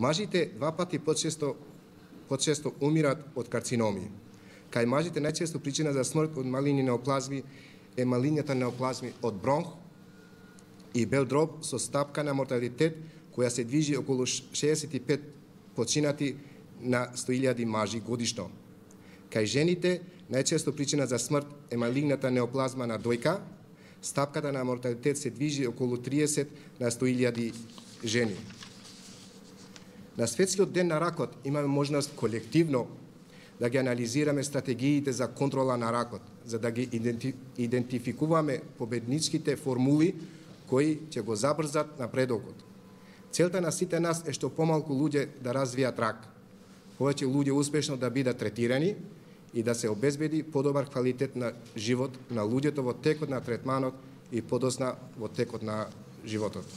Мажите 2 пати почесто умират од карциноми. Кај мажите најчесто причина за смрт од малигни неоплазми е малигната неоплазми од бронх и бел дроб со стапка на морталитет која се движи околу 65 починати на 100.000 мажи годишно. Кај жените најчесто причина за смрт е малигната неоплазма на дојка, стапката на морталитет се движи околу 30 на 100.000 жени. На Светскиот ден на ракот имаме можност колективно да ги анализираме стратегиите за контрола на ракот, за да ги идентификуваме победничките формули кои ќе го забрзат напредокот. Целта на сите нас е што помалку луѓе да развијат рак, повеќе луѓе успешно да бидат третирани и да се обезбеди подобар квалитет на живот на луѓето во текот на третманот и подосна во текот на животот.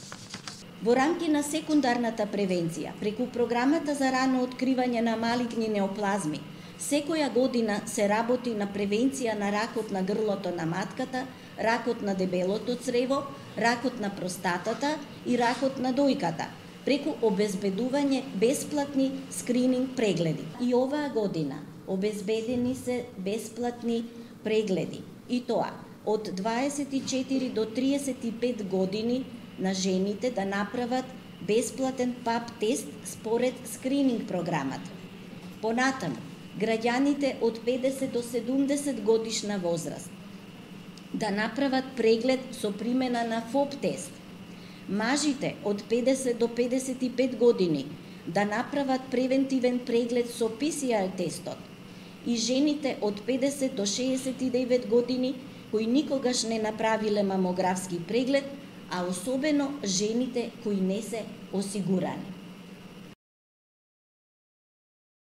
Во рамки на секундарната превенција, преку програмата за рано откривање на малигни неоплазми, секоја година се работи на превенција на ракот на грлото на матката, ракот на дебелото црево, ракот на простатата и ракот на дојката, преку обезбедување бесплатни скрининг прегледи. И оваа година обезбедени се бесплатни прегледи, и тоа од 24 до 35 години на жените да направат бесплатен ПАП тест според скрининг програмата. Понатаму, граѓаните од 50 до 70 годишна возраст да направат преглед со примена на ФОП тест. Мажите од 50 до 55 години да направат превентивен преглед со ПСР тестот и жените од 50 до 69 години кои никогаш не направиле мамографски преглед, а особено жените кои не се осигурани.